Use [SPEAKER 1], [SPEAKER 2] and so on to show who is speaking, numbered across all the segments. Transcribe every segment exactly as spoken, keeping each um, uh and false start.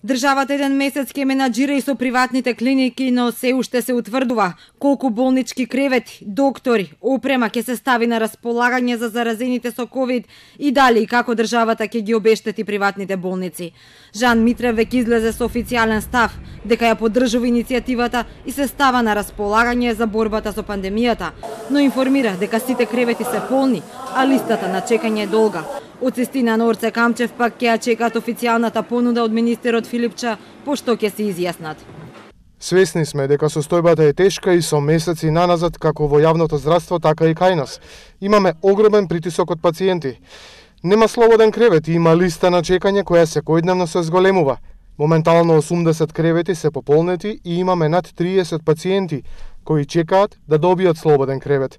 [SPEAKER 1] Државата еден месец ќе менаџира и со приватните клиники, но се уште се утврдува колку болнички кревети, доктори, опрема ќе се стави на располагање за заразените со ковид и дали и како државата ќе ги обештети приватните болници. Жан Митрев веќе излезе со официјален став дека ја поддржува иницијативата и се става на располагање за борбата со пандемијата, но информира дека сите кревети се полни, а листата на чекање е долга. Од Цистина Норце Камчев пак ќе ја чекаат официјалната понуда од министерот Филипча, пошто ќе се изјаснат.
[SPEAKER 2] Свесни сме дека состојбата е тешка и со месеци наназад како во јавното здравство, така и кај нас. Имаме огромен притисок од пациенти. Нема слободен кревет и има листа на чекање која секојдневно се зголемува. Моментално осумдесет кревети се пополнети и имаме над триесет пациенти кои чекаат да добијат слободен кревет.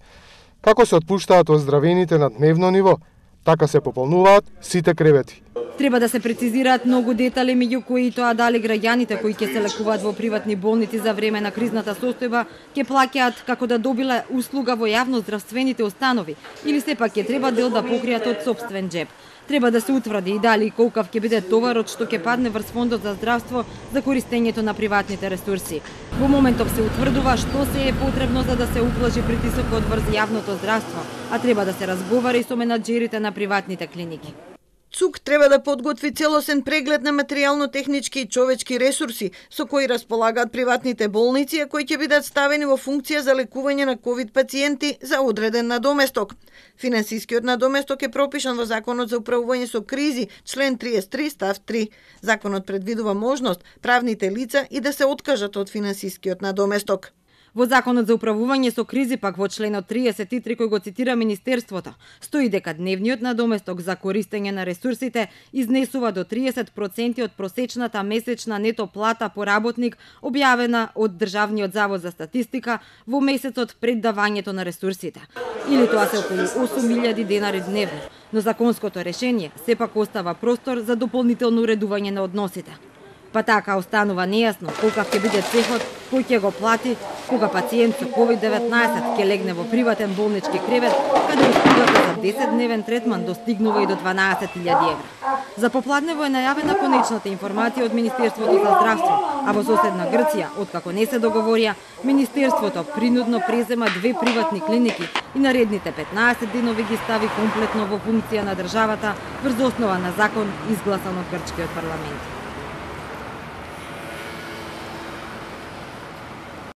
[SPEAKER 2] Како се отпуштаат оздравените на дневно ниво, така се пополнуваат сите кревети.
[SPEAKER 1] Треба да се прецизираат многу детали, меѓу кои тоа дали граѓаните кои ќе се лекуваат во приватни болници за време на кризната состојба ќе плаќаат како да добиле услуга во јавно здравствените установи или сепак ќе треба дел да покријат од сопствен джеб. Треба да се утврди и дали и колкав ќе биде товарот што ќе падне врз фондот за здравство за користењето на приватните ресурси. Во моментов се утврдува што се е потребно за да се уплажи притисокот врз јавното здравство, а треба да се разговара и со менаџерите на приватните клиники.
[SPEAKER 3] ЦУК треба да подготви целосен преглед на материјално-технички и човечки ресурси со кои располагаат приватните болници, а кои ќе бидат ставени во функција за лекување на ковид пациенти за одреден надоместок. Финансискиот надоместок е пропишан во Законот за управување со кризи, член триесет и три став три. Законот предвидува можност правните лица и да се откажат од финансискиот надоместок.
[SPEAKER 1] Во Законот за управување со кризи пак во членот триесет и три кој го цитира Министерството, стои дека дневниот надоместок за користење на ресурсите изнесува до триесет проценти од просечната месечна нето плата по работник објавена од Државниот завод за статистика во месецот пред давањето на ресурсите. Или тоа се околу осум илјади денари дневно, но законското решение сепак остава простор за дополнително уредување на односите. Па така останува нејасно колкав ќе биде цехот кој ќе го плати кога пациент со ковид деветнаесет ќе легне во приватен болнички кревет, каде услугата за десетдневен третман достигнува и до дванаесет илјади евра. За попладнево е најавена конечната информација од Министерството за здравство, а во соседна Грција, откако не се договорија, Министерството принудно презема две приватни клиники и наредните петнаесет денови ги стави комплетно во функција на државата врз основа на закон изгласан од грчкиот парламент.